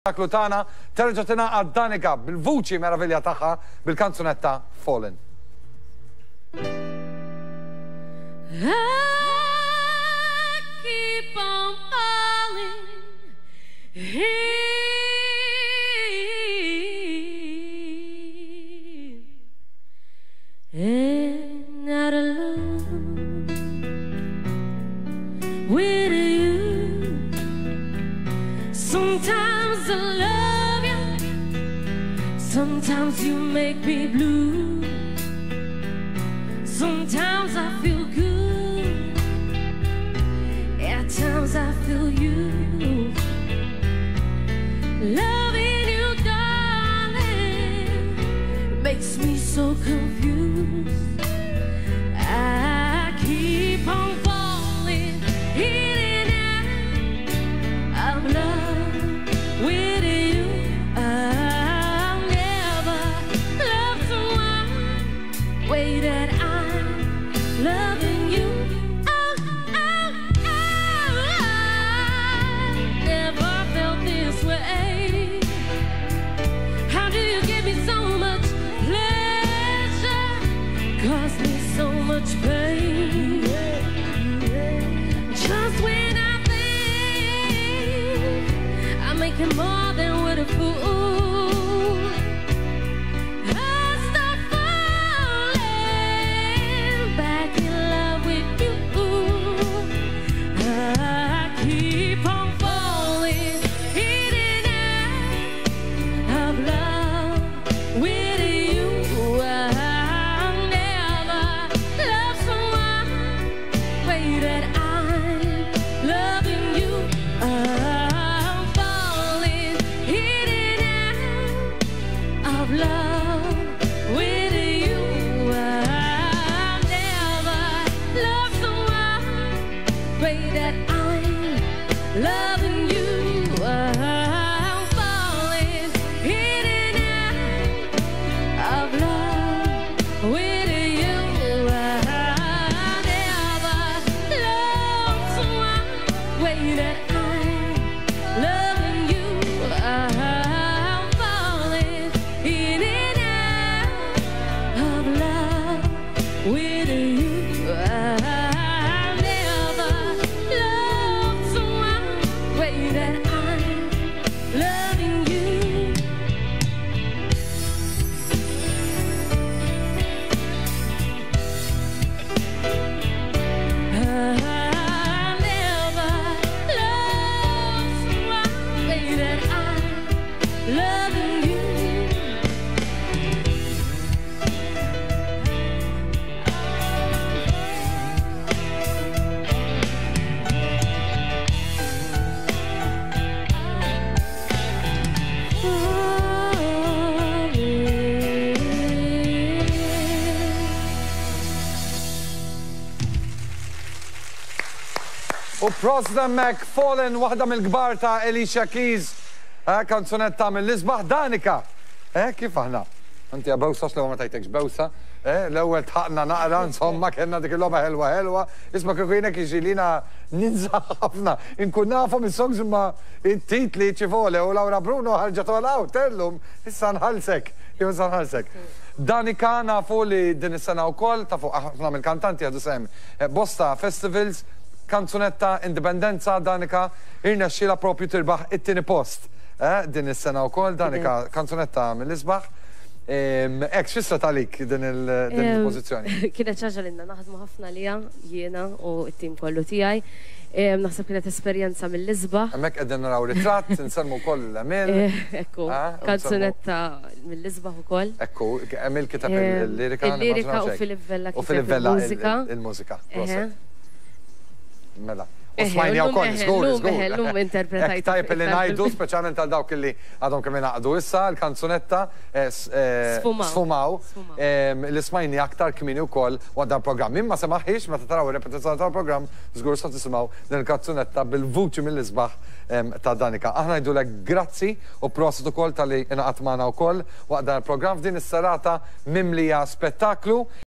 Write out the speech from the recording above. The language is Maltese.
L-ispettaklu tagħna terġa' tingħaqad Danica bil-vuċi meravilja tagħha bil-kanzunetta Fallen. I keep on falling in and out of love with you. Sometimes I love you, sometimes you make me blue. Sometimes I feel good, at times I feel used. Loving you, darling, makes me so confused. I keep on falling in and out of love with you. I'll never love someone way that I'm loving you. Oh, oh, oh, I never felt this way. How do you give me so much pleasure? Cause me so much pain. Just when I think I'm making more than what a fool, I start falling back in love with you. I keep on falling in and out of love with you. I'll never love someone the way that I'm loving you. I'm falling in and out of love with you. I'll never love someone the way that I'm loving you. I'm falling in and out of love with you. I never loved someone the way that I'm loving you. I'm falling in and out of love with you. I never loved someone the way that I'm loving you. I never loved someone the way that I'm loving you. U prosit hemmhekk Fallen, waħda mill-kbar ta' Alicia Keys, eh, kanzunetta mill-isbaħ Danica. Eh, kif aħna? Inti bewsa l-ewwel ma tajtekx bewsa, eh, l-ewwel tħaqna naqra, insomma, kellna dik il-logħba ħelwa ħelwa. Isma' kieku jiena jiġri li jiena ninsa ħafna. Inkun nafhom is-songs imma it-titli ci vuole u Laura Bruno ħarġet all out illum, issa nħallsek, jew issa nħallsek. Danica nafu li din is-sena wkoll tafu ħafna mill-kantanti jieħdu sehem bosta festivals, kanzunetta Indipendenza Danica irnexxielha propju tirbaħ it-tieni post. Eh, din is-sena wkoll Danica kanzunetta mill-isbaħ. Ek, x'fissret għalik din il-pożizzjoni? Kienet xi ħaġa li naħdmu ħafna liha jiena u t-tim kollu tiegħi. Naħseb kienet esperjenza mill-isbaħ. Hemmhekk qegħdin naraw ritratt, insellmu wkoll l-Emil. Ekku, kanzunetta mill-isbaħ ukoll. Ekku, Emil kiteb il-lirika. Il-lirika u Philip Vella U Philip Vella il-mużika. Il-mużika, proset. Mela. U smajni wkoll, żgur, żgur. Llum interpretajt. Tajb li ngħidu, speċjalment għal dawk li għadhom kemm ingħaqdu issa, l-kanzunetta Sfumaw, li smajni aktar kmieni wkoll waqt dan programm. Imma semaħiex meta taraw ir-repetizzjoni tal-programm, żgur sa tisimgħu din il-kanzunetta bil-vuċi mill-isbaħ ta' Danica. Aħna ngħidulek grazzi u prosit ukoll talli ingħaqadt magħna wkoll waqt dan il-programm f'din is-serata mimlija spettaklu.